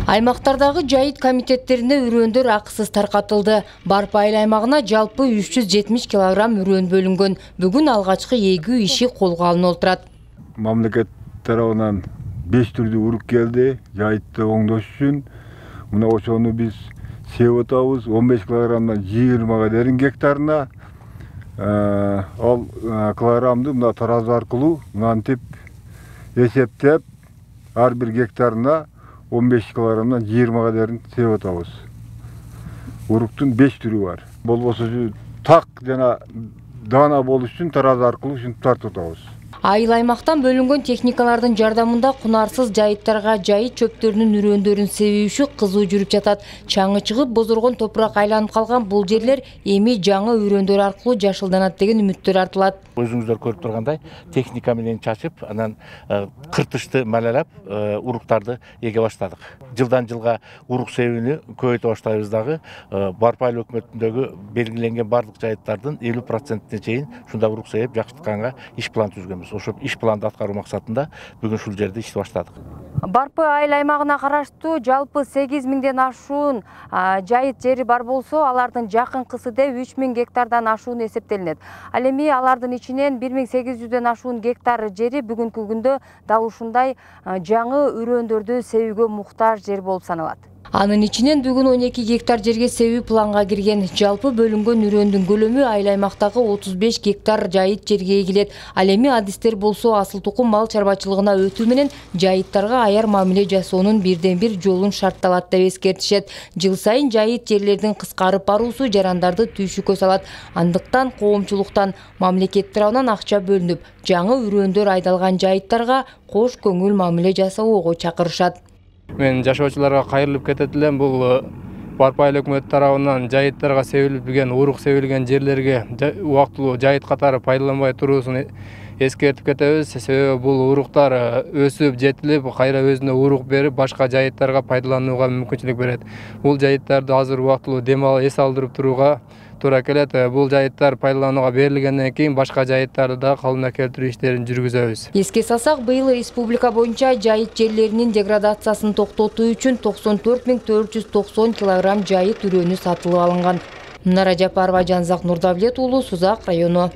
Аймактардагы жайыт комитеттерине үрөндөр акысыз таркатылды. Барпы айыл аймагына жалпы 370 килограмм үрөн бөлүнгөн. Бүгүн алгачкы эгүү иши колго алынып отурат. Мамлекет тарабынан 5 түрдүү урук келди. Жайытты оңдош үчүн мына ошону биз себип атабыз. 15 килограммдан 20 дейин гектарына. Ал килограммды мына таразы аркылуу мынтип эсептеп ар бир гектарына 15 килограммдан 20 дейин себип атабыз. Уруктун 5 түрү бар. Болбосо так жана даана болуш үчүн таразы аркылуу ушинтип тартып атабыз. Айыл аймактан бөлүнгөн техникалардын жардамында кунарсыз жайыттарга жайыт чөптөрүнүн үрөндөрүн себүүшү кызуу жүрүп жатат. Чаңы чыгып, бозоргон топурак айланып калган бул жерлер эми жаңы үрөндөр аркылуу жашылданат деген үмүттөр артылат. Өзүңүздөр көрүп тургандай, техника менен чачып, анан кыртышты малалап, уруктарды эге баштадык. Жылдан жылга урук себүүнү көбөйтө баштайбыз дагы. Барпы айыл өкмөтүндөгү белгиленген бардык жайыттардын 50%-ине чейин ушундай урук себип жакшыртканга иш план түзгөнбүз. Ошо иш планды аткаруу максатында бүгүн ушул жерде ишти баштадык. Барпы айыл аймагына караштуу жалпы 8000ден ашуун жайыт жери бар болсо, алардын жакынкысы деп 3000 гектардан ашууну эсептелинет. Ал эми алардын ичинен 1800ден ашуун гектар жери бүгүнкү күндө дал ушундай жаңы үрөндөрдү себүүгө муктаж жер болуп саналат. Анын ичинен бүгүн 12 гектар жерге себүү планга кирген. Жалпы бөлүнгөн үрөндүн көлөмү айыл аймактагы 35 гектар жайыт жерге эгилет. Ал эми адистер болсо асыл тукум мал чарбачылыгына өтүү менен жайыттарга аяр мамиле жасоонун бирден бир жолун шартталат деп эскертишет. Жыл сайын жайыт жерлердин кыскарып баруусу жарандарды түйшүккө салат. Андыктан коомчулуктан мамлекет тарабынан акча бөлүнүп, жаңы үрөндөр айдалган жайыттарга кош көңүл мамиле жасоого чакырышат. Мен жашоочуларга кайрылып кетет элем. Бул Барпы айыл өкмөтү тарабынан жайыттарга себилген, урук себилген жерлерге убактылуу жайыт катары пайдаланбай туруусун эскертип кетебиз. Себеби бул уруктар өсүп, жетилип, кайра өзүнө урук берип, башка жайыттарга пайдаланууга мүмкүнчүлүк берет. Бул жайыттарды азыр убактылуу дем алып, эс алдырып турууга туура келет. Бул жайыттар пайдаланууга берилгенден кийин башка жайыттарды да калыбына келтирүү иштерин жүргүзөбүз. Эске салсак, быйыл республика боюнча жайыт жерлеринин деградациясын токтотуу үчүн 94490 килограмм жайыт үрөнү сатылып алынган. Нара Жапарова, Жанзак Нурдавлет уулу, Сузак району.